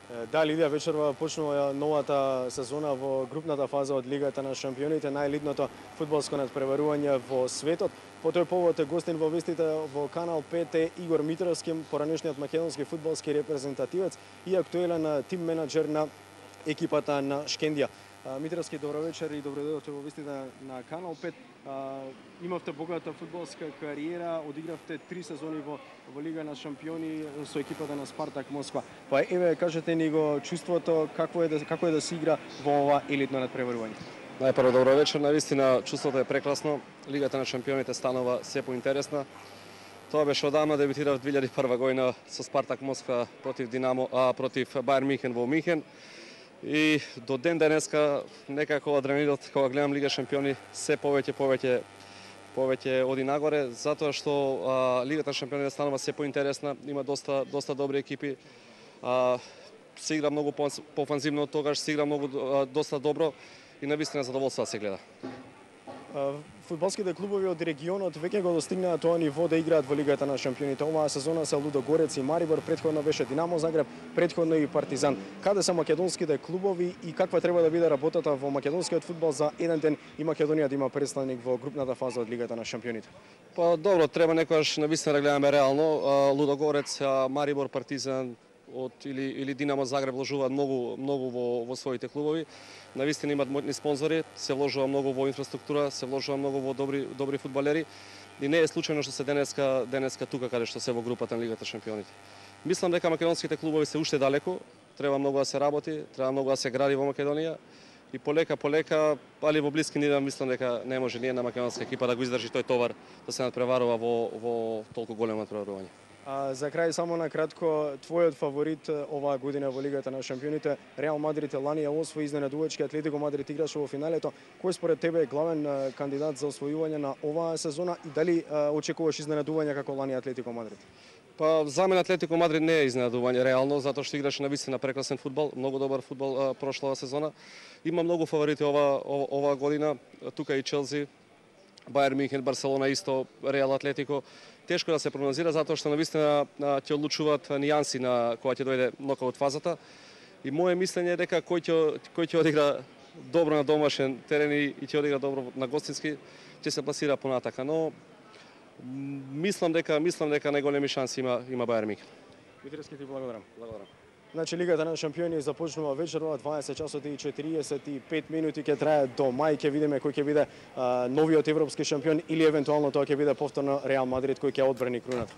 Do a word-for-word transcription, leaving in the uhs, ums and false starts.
Да, Лидија, вечерва почнува новата сезона во групната фаза од Лигата на шампионите, најелитното фудбалско надпреварување во светот. По тој повод гостин во вестите во Канал пет е Игор Митровски, поранешниот македонски фудбалски репрезентативец и актуелен тим менаџер на екипата на Шкендија. Митровски, добро вечер и добро дојдовте во вестите на Канал пет. Имавте богата фудбалска кариера, одигравте три сезони во, во Лига на шампиони со екипата на Спартак Москва. Па еве, кажете ни го чувството, какво е да, како е да се игра во ова елитно надпреварување? Најпрво добро вечер, навистина чувството е прекрасно. Лигата на шампионите станува се поинтересна. Тоа беше одамна, дебютирав две илјади и прва година со Спартак Москва против Динамо, а против Бајер Михен во Михен. И до ден денеска некако адреналинот кога гледам Лига шампиони се повеќе повеќе повеќе оди нагоре, затоа што а, Лигата на шампионите станува се поинтересна, има доста доста добри екипи. А, се игра многу пофанзивно, тогаш се игра многу а, доста добро и навистина задоволство да се гледа. Фудбалските клубови од регионот веќе го достигнаа тоа ниво да играат во Лигата на шампионите. Оваа сезона се Лудогорец и Марибор, претходно беше Динамо Загреб, претходно и Партизан. Каде се македонските клубови и каква треба да биде работата во македонскиот фудбал за еден ден и Македонија да има представник во групната фаза од Лигата на шампионите? Па добро, треба некогаш навистина да гледаме реално. Лудогорец, Марибор, Партизан од или или Динамо Загреб вложуваат многу многу во во своите клубови. Навистина имаат моćни спонзори, се вложува многу во инфраструктура, се вложува многу во добри добри фудбалери и не е случајно што се денеска денеска тука каде што се во групата на Лигата шампионите. Мислам дека македонските клубови се уште далеку, треба многу да се работи, треба многу да се гради во Македонија и полека полека, али во блиски дни мислам дека не може ни една македонска екипа да го издржи тој товар да се надпреварува во во толку големо надпреварување. А за крај само на кратко, твојот фаворит оваа година во Лигата на шампионите, Реал Мадрид лани ја освои изненадувачки, Атлетико Мадрид играше во финалето. Кој според тебе е главен кандидат за освојување на оваа сезона и дали а, очекуваш изненадување како лани Атлетико Мадрид? Па за мене Атлетико Мадрид не е изненадување реално, затоа што играше навистина прекрасен фудбал, многу добар фудбал прошлава сезона. Има многу фаворити ова оваа година, тука и Челси, Бајер Михен, Барселона исто, Реал Атлетико. Тешко да се прогнозира затоа што навистина ќе одлучуваат нијанси на кога ќе дојде нокаут фазата. И мое мислење е дека кој ќе кој ќе одигра добро на домашен терен и ќе одигра добро на гостински ќе се пласира понатака, но мислам дека мислам дека најголеми шанси има има Бајер Михен. Митровски, ти благодарам. Благодарам. Значи Лигата на шампиони започнува вечерва дваесет часот и четириесет и пет минути, ќе трае до мај, ќе видиме кој ќе биде а, новиот европски шампион или евентуално тоа ќе биде повторно Реал Мадрид кој ќе одбрани круната.